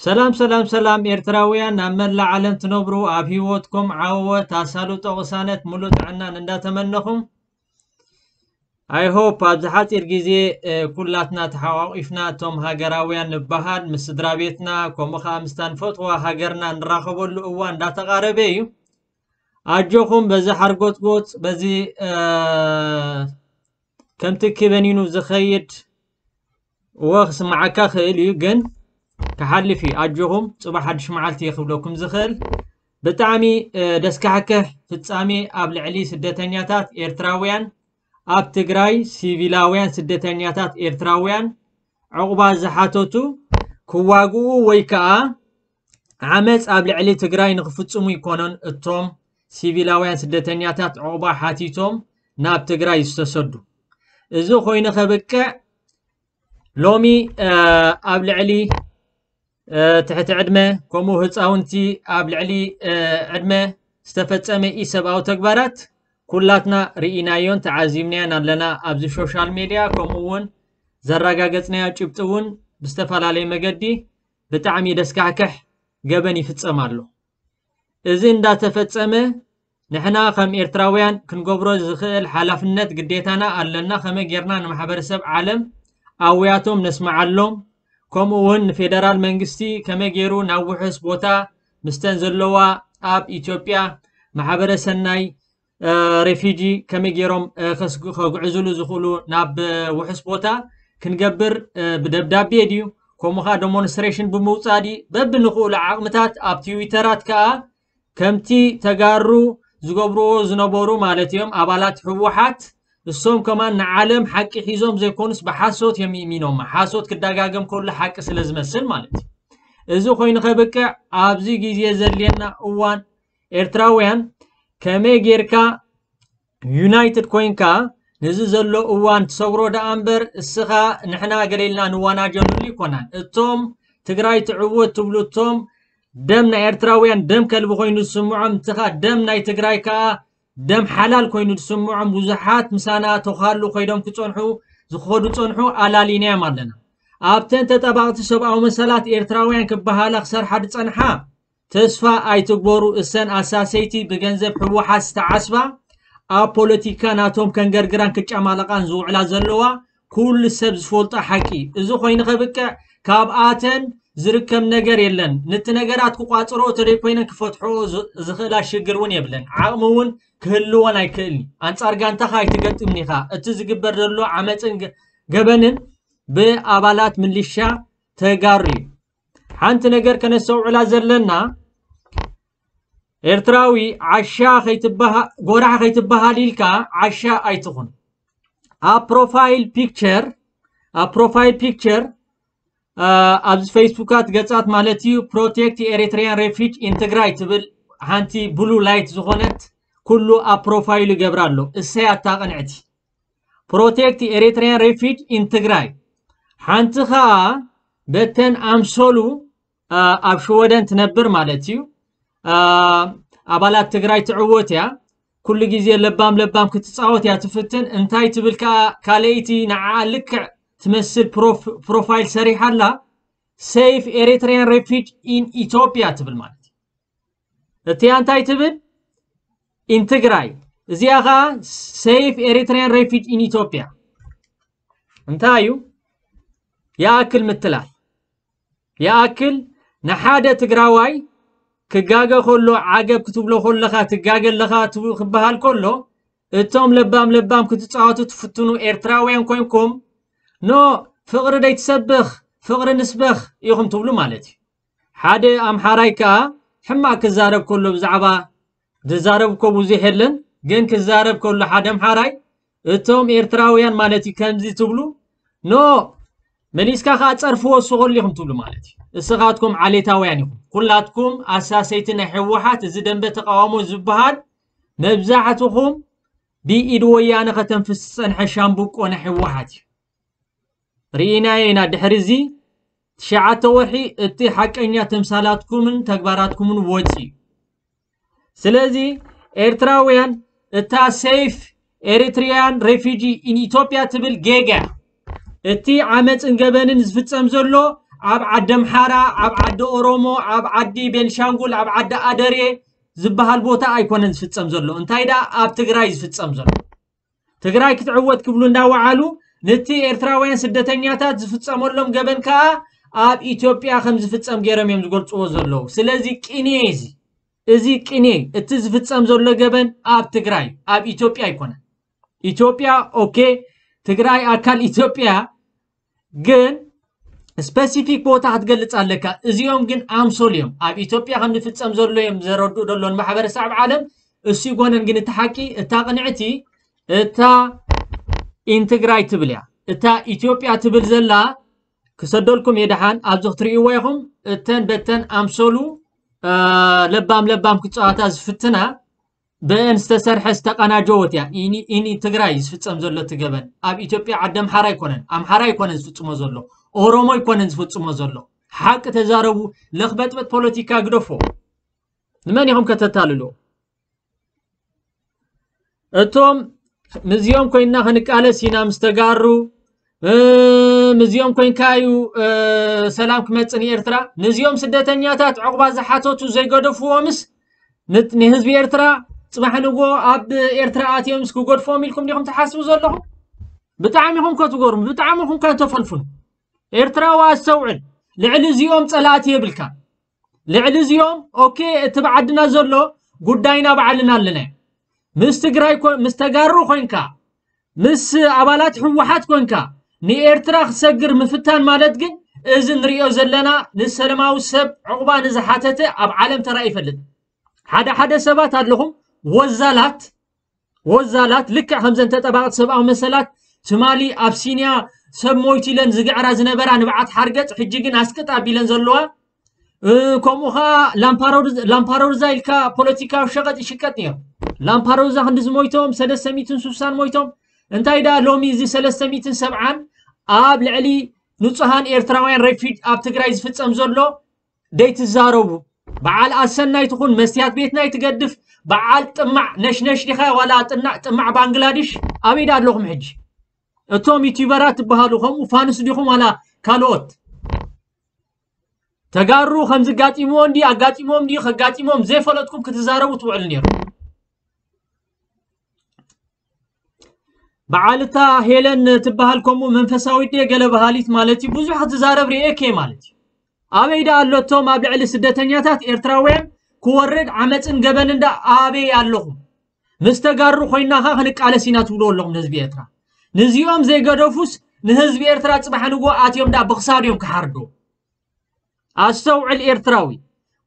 ሰላም ሰላም ሰላም ኤርትራውያን ኣብ መላእ ዓለም ትነብሩ፣ ኣብ ህይወትኩም ዓወት፣ ኣሳልጦ ቅሳነት፣ ሙሉእ ጥዕናን እንዳተመነኹም፣ I hope ኣብዚ ሓፂር ግዜ ኩላትና ተሓቋቂፍና እቶም ሃገራውያን ንበሃል ምስ ስድራ ቤትና ከምኡ ከዓ ምስታ ንፈትዋ ሃገርና ንራኸበሉ እዋን እንዳተቃረበ እዩ። ኣጆኹም በዚ ሓርጎትጎት በዚ ከምቲ ክበኒኑ ዝኸይድ እወ ክስምዓካ ክእል እዩ፣ ግን ክሓልፍ እዩ። ኣጆኹም፣ ጽባሕ ሓድሽ መዓልቲ እየ ክብለኩም ዝኽእል። ብጣዕሚ ደስካሕክሕ ፍጻሜ ኣብ ልዕሊ ስደተኛታት ኤርትራውያን ኣብ ትግራይ፣ ሲቪላውያን ስደተኛታት ኤርትራውያን ዕቑባ ዝሓተቱ ክዋግኡ ወይ ከኣ ዓመጽ ኣብ ልዕሊ ትግራይ ንክፍጽሙ ይኮነን እቶም ሲቪላውያን ስደተኛታት ዕቑባ ሓቲቶም ናብ ትግራይ ዝተሰዱ። እዚ ኮይኑ ከብቅዕ ሎሚ ኣብ ልዕሊ ትሕቲ ዕድመ ከምኡ ህፃውንቲ ኣብ ልዕሊ ዕድመ ዝተፈፀመ ኢሰብኣዊ ተግባራት ኩላትና ርኢናዮን ተዓዚብናዮን ኣለና። ኣብዚ ሶሻል ሜድያ ከምኡ እውን ዘረጋገፅናዮ ጭብጢ እውን ብዝተፈላለየ መገዲ ብጣዕሚ ደስካሕክሕ ገበን ይፍፀም ኣሎ። እዚ እንዳተፈጸመ ንሕና ከም ኤርትራውያን ክንገብሮ ዝኽእል ሓላፍነት ግዴታና ኣለና። ከመይ ጌርና ንማሕበረሰብ ዓለም ኣውያቶም ነስምዓሎም፣ ከምኡ እውን ንፌደራል መንግስቲ ከመይ ገይሩ ናብ ውሑስ ቦታ ምስተን ዘለዋ ኣብ ኢትዮጵያ ማሕበረ ሰናይ ሬፊጂ ከመይ ገይሮም ከስግ- ከጉዕዝሉ ዝኽእሉ ናብ ውሑስ ቦታ ክንገብር ብደብዳቤ ድዩ ከምኡ ከዓ ዶሞንስትሬሽን ብምውፃእ ድዩ በብንኽእሉ ዓቕምታት ኣብ ትዊተራት ከዓ ከምቲ ተጋሩ ዝገብርዎ ዝነበሩ ማለት እዮም ኣባላት ህወሓት እሶም ከማን ንዓለም ሓቂ ሒዞም ዘይኮኑስ ብሓሶት እዮም ይእሚኖም ሓሶት ክደጋገም ከሎ ሓቂ ስለ ዝመስል ማለት እዩ። እዚ ኮይኑ ከብቅዕ ኣብዚ ግዜ ዘድልየና እዋን ኤርትራውያን ከመይ ጌርካ ዩናይትድ ኮይንካ ነዚ ዘሎ እዋን ትሰግሮ ደኣ እምበር እስኻ ንሕና ገለ ኢልና ንዋናጀሉሉ ይኮናን። እቶም ትግራይ ትዕወት ትብሉ እቶም ደም ናይ ኤርትራውያን ደም ከልቢ ኮይኑ ዝስምዖም እንትኻ ደም ናይ ትግራይ ከዓ ደም ሓላል ኮይኑ ዝስምዖም ብዙሓት ምሳና ተዃሉ ኮይዶም ክፀንሑ ዝኸዱ ፀንሑ ኣላሊናዮም ኣለና። ኣብተን ተጠባቕቲ ሰብኣዊ መሰላት ኤርትራውያን ክበሃላ ክሰርሓ ዝፀንሓ ተስፋ ኣይትግበሩ እሰን ኣሳሰይቲ ብገንዘብ ህወሓት ዝተዓስባ ኣብ ፖለቲካ ናቶም ከንገርግራን ክጨማለቓን ዝውዕላ ዘለዋ ኩሉ ሰብ ዝፈልጦ ሓቂ እዩ። እዚ ኮይኑ ከብቅዕ ካብኣተን ዝርከብ ነገር የለን። ነቲ ነገራት ክቋፅሮ ተደይኮይነን ክፈትሖ ዝኽእላ ሽግር እውን የብለን። ዓቕሚ እውን ክህልወን ኣይክእልን እዩ። ኣንፃር ጋንታኻ ኣይትገጥምን ኢኻ። እቲ ዝግበር ዘሎ ዓመፅን ገበንን ብኣባላት ምልሻ ተጋሩ እዩ። ሓንቲ ነገር ከነስተውዕላ ዘለና ኤርትራዊ ዓሻ ከይትበሃ- ጎራሕ ከይትበሃል ኢልካ ዓሻ ኣይትኹን። ኣብ ፕሮፋይል ፒክቸር ኣብ ፕሮፋይል ፒክቸር ኣብዚ ፌስቡካት ገጻት ማለት እዩ ፕሮቴክት ኤሪትሪያን ሬፊጅ ኢን ትግራይ ትብል ሓንቲ ብሉ ላይት ዝኾነት ኩሉ ኣብ ፕሮፋይሉ ይገብራ ኣሎ። እሰይ ኣታ ቅንዕቲ። ፕሮቴክት ኤሪትሪያን ሬፊጅ ኢን ትግራይ ሓንቲ ኸኣ በተን ኣምሰሉ ኣብ ሽወደን ትነብር ማለት እዩ ኣባላት ትግራይ ትዕወት እያ። ኩሉ ግዜ ለባም ለባም ክትፃወት እያ ትፍትን እንታይ ትብል ከዓ ካልኣይቲ ንዓ ልክዕ ትመስል ፕሮፋይል ሰሪሓ ኣላ። Save Eritrean Refuge in Ethiopia ትብል ማለት እዩ። እቲያ እንታይ ትብል? ኢን ትግራይ። እዚኣ ከዓ Save Eritrean Refuge in Ethiopia እንታይ እዩ? ይኣክል ምትላል ይኣክል ንሓደ ትግራዋይ ክጋገ ከሎ ዓገብ ክትብሎ ከለኻ ትጋገ ኣለኻ ክበሃል ከሎ እቶም ለባም ለባም ክትፃወቱ ትፍትኑ ኤርትራውያን ኮይንኩም ኖ ፍቕሪ ደይትሰብኽ ፍቕሪ ንስበኽ ኢኹም ትብሉ ማለት እዩ። ሓደ ኣምሓራይ ከዓ ሕማቕ ክዛረብ ከሎ ብዛዕባ ዝዛረብ እኮ ብዙሕ የለን ግን ክዛረብ ከሎ ሓደ ኣምሓራይ እቶም ኤርትራውያን ማለት እዩ ከምዚ ትብሉ ኖ መሊስካ ከዓ ፀርፍዎ እሱ ከሉ ኢኹም ትብሉ ማለት እዩ። እስኻትኩም ዓሌታውያን ኢኹም ኩላትኩም ኣሳሰይቲ ናይ ህወሓት እዚ ደንበ ተቃውሞ ዝበሃል መብዛሕትኹም ብኢድ ወያነ ከተንፍስ ዝፀንሐ ሻምብቆ ናይ ህወሓት እዩ። ርኢናዮ ኢና ድሕሪ እዚ ትሽዓተ ወርሒ እቲ ሓቀኛ ተምሳላትኩምን ተግባራትኩምን ወፂ እዩ። ስለዚ ኤርትራውያን እታ Save Eritrean Refuge in Ethiopia ትብል ጌጋ እቲ ዓመፅን ገበንን ዝፍፀም ዘሎ ኣብ ዓዲ ኣምሓራ፣ ኣብ ዓዲ ኦሮሞ፣ ኣብ ዓዲ ቤንሻንጉል፣ ኣብ ዓዲ ኣደሬ ዝበሃል ቦታ ኣይኮነን ዝፍጸም ዘሎ። እንታይ ደኣ ኣብ ትግራይ ዝፍጸም ዘሎ። ትግራይ ክትዕወት ክብሉ እንዳወዓሉ፣ ነቲ ኤርትራውያን ስደተኛታት ዝፍጸመሎም ገበን ከኣ ኣብ ኢትዮጵያ ከም ዝፍጸም ገይሮም እዮም ዝገልጽዎ ዘለዉ። ስለዚ ቅኔ እዚ፣ እዚ ቅኔ፣ እቲ ዝፍጸም ዘሎ ገበን ኣብ ትግራይ፣ ኣብ ኢትዮጵያ ኣይኮነን። ኢትዮጵያ፣ ኦኬ፣ ትግራይ ኣካል ኢትዮጵያ፣ ግን ስፐሲፊክ ቦታ ክትገልጽ ኣለካ። እዚኦም ግን ኣምሶል እዮም። ኣብ ኢትዮጵያ ከም ዝፍጸም ዘሎ እዮም ዘረድኡ ዘሎ ንማሕበረሰብ ዓለም። እሱ ይኮነን ግን እቲ ሓቂ፣ እታ ቅንዕቲ፣ እታ ኢንትግራይ ትብል እያ። እታ ኢትዮጵያ ትብል ዘላ ክሰደልኩም እየ ደሓን፣ ኣብዚ ክትርእይዎ ኢኹም። እተን በተን ኣምሶሉ፣ እ፣ ለባም ለባም ክጻወታ ዝፍትና፣ ብአን ዝተሰርሐ ዝተቀናጀወት እያ። ኢኒ፣ ኢኒ ትግራይ ዝፍጸም ዘሎ እቲ ገበን። ኣብ ኢትዮጵያ ዓዲ ኣምሓራ ኣይኮነን፣ ኣምሓራ ኣይኮነን ዝፍጽሞ ዘሎ፣ ኦሮሞ ኣይኮነን ዝፍጽሞ ዘሎ። ሓቂ ተዛረቡ፣ ለኽበጥበጥ ፖለቲካ ግደፎ። ንመን ኢኹም ከተታልሉ? እቶም ምስዚኦም ኮይንና ክንቃለስ ኢና ምስ ተጋሩ፣ እ፣ ምስዚኦም ኮይንካ እዩ፣ እ፣ ሰላም ክመጽእ ንኤርትራ። ንዚኦም ስደተኛታት ዕቑባ ዝሓተቱ ዘይገደፍዎምስ፣ ን-፣ ንህዝቢ ኤርትራ ጽባሕ ንግሆ ኣብ ኤርትራ ኣትዮምስ ክገድፍዎም ኢልኩም ዲኹም ትሓስቡ ዘለኹም? ብጣዕሚ ኢኹም ከትገርሙ፣ ብጣዕሚ ኢኹም ከተፈልፍኑ። ኤርትራዊ ኣስተውዕል፣ ልዕሊ እዚኦም ጸላእቲ የብልካ። ልዕሊ እዚኦም፣ ኦኬ፣ እቲ ብዓድና ዘሎ ጉዳይና ባዕልና ኣለና። ምስ ትግራይ ኮ-፣ ምስ ተጋሩ ኮይንካ፣ ምስ ኣባላት ህወሓት ኮንካ ንኤርትራ ክሰግር ምፍታን ማለት ግን፣ እዚ ንሪኦ ዘለና ንሰላማዊ ሰብ ዕቑባ ንዝሓተተ ኣብ ዓለም ተራእዩ ይፈልጥ። ሓደ ሓደ ሰባት ኣለኹም፣ ወዛላት፣ ወዛላት፣ ልክዕ ከምዘን ተጠባቕቲ ሰብኣዊ መሰላት ትማሊ ኣብ ሲንያ ሰብ ሞይቱ ኢለን ዝግዕራ ዝነበራ ንብዓት ሓርገጽ፣ ሕጂ ግን ኣስቅጥ ኣቢለን ዘለዋ። እ፣ ከምኡ ኸዓ ላምፓሮርዝ-፣ ላምፓሮርዛ ኢልካ ፖለቲካዊ ሸቐጥ ይሽቀጥ ነይሩ። ላምፓሮርዛ ክንዲ ዝሞይቶም፣ ሰለስተ ሚእትን ስሳን ሞይቶም። እንታይ ደኣ ሎሚ እዚ ሰለስተ ሚእትን ሰብዓን ኣብ ልዕሊ ንጹሃን ኤርትራውያን ሬፊጅ ኣብ ትግራይ ዝፍጸም ዘሎ ደይትዛረቡ። በዓል ኣሰናይ ትኹን፣ መስትያት ቤትና ይትገድፍ፣ በዓል ጥማዕ ነሽነሽ ዲኻ ዋላ ጥና-፣ ጥማዕ ባንግላድሽ? ኣበይ ደኣ ኣለኹም ሕጂ? እቶም ዩቲዩበራት ትበሃሉ ከምኡ ፋንስ ዲኹም ዋላ ካልኦት? ተጋሩ ከምዚ ጋጢምዎ እንዲ ኣጋጢሞም እንዲ ከጋጢሞም ዘይፈለጥኩም ክትዛረቡ ትውዕሉ ነይሩ። በዓልታ ሄለን ትበሃል ከምኡ መንፈሳዊት ድየ ገለ በሃሊት ማለት እዩ። ብዙሕ ክትዛረብ ርእየኪ እየ ማለት እዩ። ኣበይ ደኣ ኣሎ እቶም ኣብ ልዕሊ ስደተኛታት ኤርትራውያን ክወርድ ዓመፅን ገበንን ደኣ ኣበይ ኣለኹም? ምስ ተጋሩ ኮይና ኸ ክንቃለስ ኢና ትብሉ ኣለኹም ንህዝቢ ኤርትራ። ንዚኦም ዘይገደፉስ ንህዝቢ ኤርትራ ጽባሕ ንግሆ ኣትዮም ደኣ ብኽሳድ እዮም ክሓርዱ። ኣስተውዕል ኤርትራዊ፣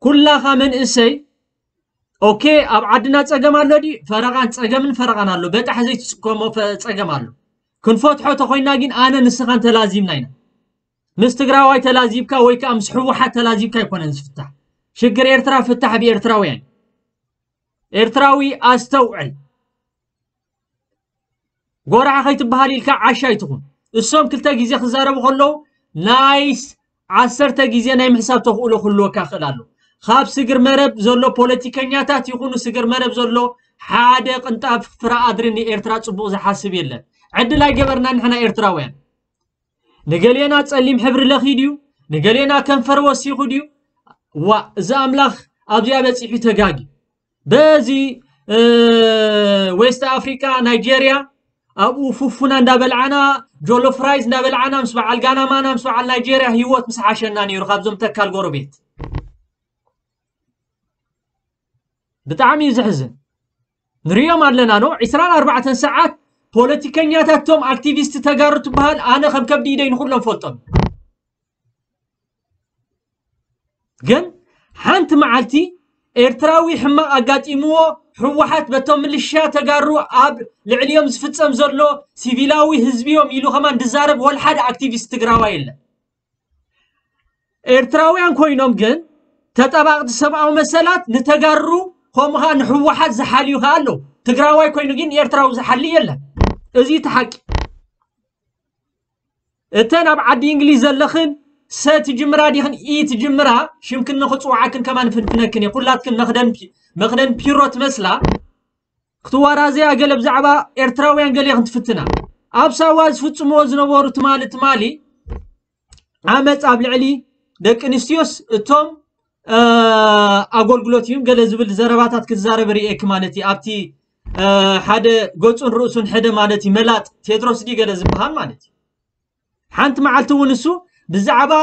ኩላኻ መንእሰይ፣ ኦኬ፣ ኣብ ዓድና ጸገም ኣሎ ድዩ? ፈረቓን ጸገምን ፈረቓን ኣሎ። በጣሕ ዘይትጽከሞ ፈ-፣ ጸገም ኣሎ። ክንፈትሖ ተኾይና ግን ኣነ ንስኻን ተላዚብና ኢና። ምስ ትግራዋይ ተላዚብካ ወይ ከኣ ምስ ህወሓት ተላዚብካ ኣይኮነን ዝፍታሕ። ሽግር ኤርትራ ፍታሕ ብኤርትራውያን። ኤርትራዊ ኣስተውዕል። ጎራሕ ከይትበሃል ኢልካ ዓሻ ኣይትኹን። እሶም ክልተ ግዜ ክዛረቡ ከለዉ ናይስ ዓሰርተ ግዜ ናይ ምሕሳብ ተኽእሎ ክህልወካ ይኽእል ኣሎ። ካብ ስግር መረብ ዘሎ ፖለቲከኛታት ይኹኑ ስግር መረብ ዘሎ ሓደ ቅንጣብ ፍረ ኣድሪ ንኤርትራ ጽቡቕ ዝሓስብ የለን። ዕድል ኣይገበርና ንሕና ኤርትራውያን። ንገሌና ጸሊም ሕብሪ ለኺ ድዩ? ንገሌና ከንፈር ወሲኹ ድዩ? ዋ፣ እዚ ኣምላኽ ኣብዚኣ በጺሑ ተጋጊ። በዚ፣ እ፣ ዌስት ኣፍሪካ፣ ናይጄርያ፣ ኣብኡ ፉፉና እንዳበልዓና፣ ጆሎ ፍራይዝ እንዳበልዓና፣ ምስ በዓል ጋናማና፣ ምስ በዓል ናይጄርያ ህይወት ምስ ሓሸና ነይሩ ካብዞም ተካል ጎረቤት። ብጣዕሚ እዩ ዘሕዝን። ንሪኦም ኣለና ኖ፣ ዒስራን ኣርባዕተን ሰዓት ፖለቲከኛታት፣ ቶም ኣክቲቪስት ተጋሩ ትበሃል፣ ኣነ ከም ከብዲ ኢደይ ንኹሎም ፈልጦም። ግን ሓንቲ መዓልቲ ኤርትራዊ ሕማቕ ኣጋጢምዎ፣ ህወሓት በቶም ምልሻ ተጋሩ ኣብ ልዕሊኦም ዝፍጸም ዘሎ ሲቪላዊ ህዝቢ እዮም ኢሉ ከማን ዝዛረብ ወላ ሓደ ኣክቲቪስት ትግራዋይ የለን። ኤርትራውያን ኮይኖም ግን ተጣባቕቲ ሰብኣዊ መሰላት ንተጋሩ ከምኡ ኸዓ ንህወሓት ዝሓልዩ ኸዓ ኣለዉ። ትግራዋይ ኮይኑ ግን ኤርትራዊ ዝሓሊ የለን። እዚ እቲ ሓቂ። እተን ኣብ ዓዲ እንግሊዝ ዘለኽን ሰ ትጅምራ ዲኽን ኢ ትጅምራ ሽምክን ንኽፅውዓክን ከማን ፍንፍነክን እየ። ኩላትክን መኽደን ፒ-፣ መኽደን ፒሮ ትመስላ ክትዋራዘያ ገለ ብዛዕባ ኤርትራውያን ገለ ክትፍትና። ኣብ ሳዋ ዝፍጽምዎ ዝነበሩ ትማሊ ትማሊ ዓመፅ ኣብ ልዕሊ ደቂ ኣንስትዮስ እቶም ኣጎልግሎት እዩ ገለ ዝብል ዘረባታት ክዛረብ ርእየክ ማለት እዩ። ኣብቲ ሓደ ገፁን ርእሱን ሕደ ማለት እዩ መላጥ ቴድሮስ ድዩ ገለ ዝበሃል ማለት እዩ። ሓንቲ መዓልቲ እውን እሱ ብዛዕባ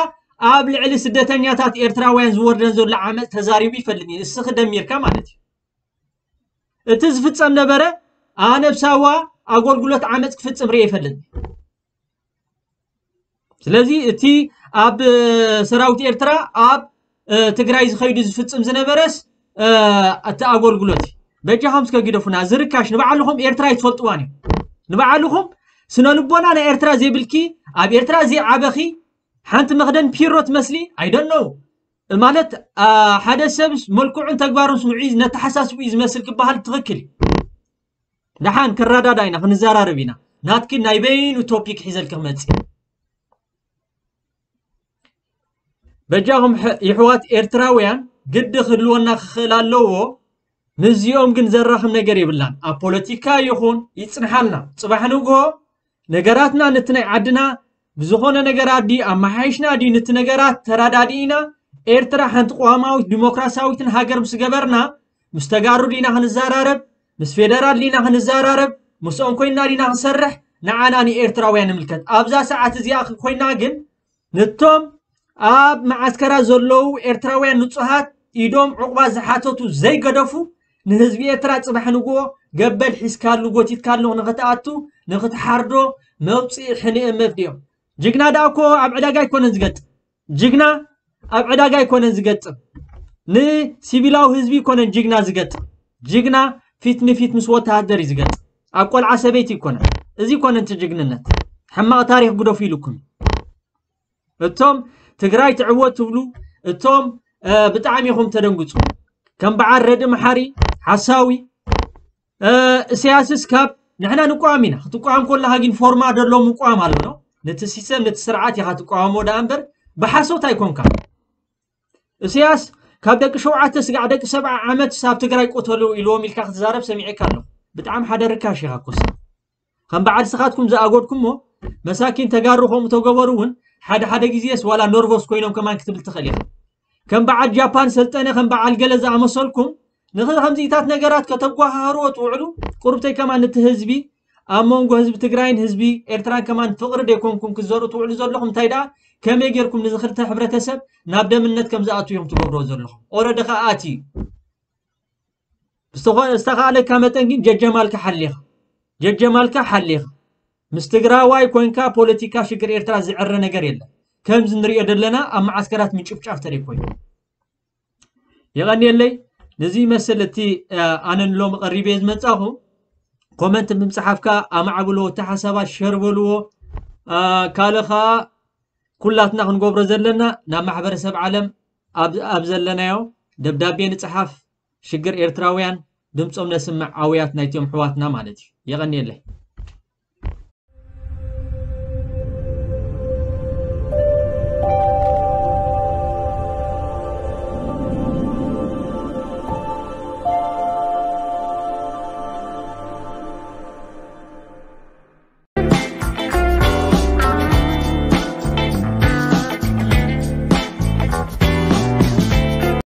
ኣብ ልዕሊ ስደተኛታት ኤርትራውያን ዝወርደን ዘሎ ዓመፅ ተዛሪቡ ይፈልጥ እዩ። እስኺ ደሚርካ ማለት እዩ። እቲ ዝፍፀም ነበረ ኣነ ብሳዋ ኣጎልግሎት ዓመፅ ክፍፅም ርእ ይፈልጥ። ስለዚ እቲ ኣብ ሰራዊት ኤርትራ ኣብ ትግራይ ዝኸይዱ ዝፍፅም ዝነበረስ እቲ ኣጎልግሎት እዩ። በጃኹም እስከ ግደፉና። ዝርካሽ ንባዕልኹም ኤርትራ ይትፈልጥዋን እዩ። ንባዕልኹም ስነ ልቦና ናይ ኤርትራ ዘይብልኪ ኣብ ኤርትራ ዘይዓበኺ ሓንቲ መኽደን ፒሮ ትመስሊ ኣይደነው ማለት ሓደ ሰብ መልክዑን ተግባሩን ስምዒ ነተሓሳስቡ እዩ ዝመስል ክበሃል ትኽክል እዩ። ደሓን ክረዳዳ ኢና ክንዘራረብ ኢና። ናትኪ ናይ በይኑ ቶፒክ ሒዘልክ ክመፅእ በጃኹም ይሕዋት ኤርትራውያን ግዲ ክህልወና ክኽእል ኣለዎ። ምስዚኦም ግን ዘራኽብ ነገር የብላን። ኣብ ፖለቲካ ይኹን ይፅንሓልና ፅባሕ ንግሆ ነገራትና ነቲ ናይ ዓድና ብዝኾነ ነገራት ድዩ ኣመሓይሽና ድዩ ነቲ ነገራት ተራዳዲእና ኤርትራ ሓንቲ ቅዋማዊት ዲሞክራሲያዊትን ሃገር ምስ ገበርና ምስ ተጋሩ ዲና ክንዘራረብ ምስ ፌደራል ዲና ክንዘራረብ ምስኦም ኮይና ዲና ክንሰርሕ ንዓና ንኤርትራውያን ንምልከት ኣብዛ ሰዓት እዚኣ ኮይና ግን ነቶም ኣብ መዓስከራ ዘለዉ ኤርትራውያን ንጹሃት ኢዶም ዕቑባ ዝሓተቱ ዘይገደፉ ንህዝቢ ኤርትራ ጽባሕ ንግሆ ገበል ሒዝካሉ ጎቲትካሉ ንኽትኣቱ ንኽትሓርዶ መውፅኢ ሕንኤ መፍድዮም። ጅግና ደኣ እኮ ኣብ ዕዳጋ ኣይኮነን ዝገጥም። ጅግና ኣብ ዕዳጋ ኣይኮነን ዝገጥም። ንሲቪላዊ ህዝቢ ይኮነን ጅግና ዝገጥም። ጅግና ፊት ንፊት ምስ ወተሃደር እዩ ዝገጥም። ኣብ ቆልዓ ሰበይቲ ይኮነን። እዚ ይኮነን እቲ ጅግንነት። ሕማቕ ታሪኽ ግደፉ ኢሉኩም። እቶም ትግራይ ትዕወት ትብሉ እቶም ብጣዕሚ ኢኹም ተደንግፁ። ከም በዓል ረዲ መሓሪ ሓሳዊ እሰያስስ ካብ ንሕና ንቋም ኢና ክትቋም ከለካ ግን ፎርማ ደሎ ምቋም ኣሎ ነቲ ሲስተም ነቲ ስርዓት ኢካ ትቋወሞ ደኣ እምበር ብሓሶት ኣይኮንካ። እሰያስ ካብ ደቂ ሸውዓተ ስጋዕ ደቂ ሰብዓ ዓመት ሳብ ትግራይ ቆተሉ ኢልዎም ኢልካ ክትዛረብ ሰሚዐካ ኣለኹ። ብጣዕሚ ሓደ ርካሽ ኢካ ኮስ ከም በዓል ስኻትኩም ዝኣጎድኩሞ መሳኪን ተጋሩ ከምኡ ተገበሩ እውን ሓደ ሓደ ግዜስ ዋላ ነርቮስ ኮይኖም ከማን ክትብል ትኽእል ኢኻ። ከም በዓል ጃፓን ሰልጠነ ከም በዓል ገለ ዝኣመሰልኩም ንኸ ከምዚታት ነገራት ከተጓሃህርዎ ትውዕሉ ቁርብተይ ከማን ነቲ ህዝቢ ኣብ መንጎ ህዝቢ ትግራይን ህዝቢ ኤርትራን ከማን ፍቕሪ ደይኮንኩም ክዘሩ ትውዕሉ ዘለኹም እንታይ ደኣ ከመይ ጌርኩም ንዚ ክልተ ሕብረተሰብ ናብ ደምነት ከም ዝኣቱ እዮም ትገብርዎ ዘለኹም ኦረዲ ከኣ ኣትዩ ብዝተኾነ ዝተኻእለካ መጠን ግን ጀጀማልካ ሓሊኻ ጀጀማልካ ሓሊኻ ምስ ትግራዋይ ኮንካ ፖለቲካ ሽግር ኤርትራ ዝዕረ ነገር የለን። ከምዚ ንሪኦ ዘለና ኣብ መዓስከራት ምጭፍጫፍ ተደይ ኮይኑ የቐንየለይ። ነዚ ይመስል እቲ ኣነ ንሎሚ ቀሪበ ዝመጻኹ ኮመንት ብምፅሓፍካ ኣማዕብሎ እቲ ሓሳባት ሸር በልዎ ካልእ ከዓ ኩላትና ክንገብሮ ዘለና ናብ ማሕበረሰብ ዓለም ኣብ ዘለናዮ ደብዳቤ ንፅሓፍ ሽግር ኤርትራውያን ድምፆም ነስምዕ ኣውያት ናይቶም ኣሕዋትና ማለት እዩ። የቐንየለይ።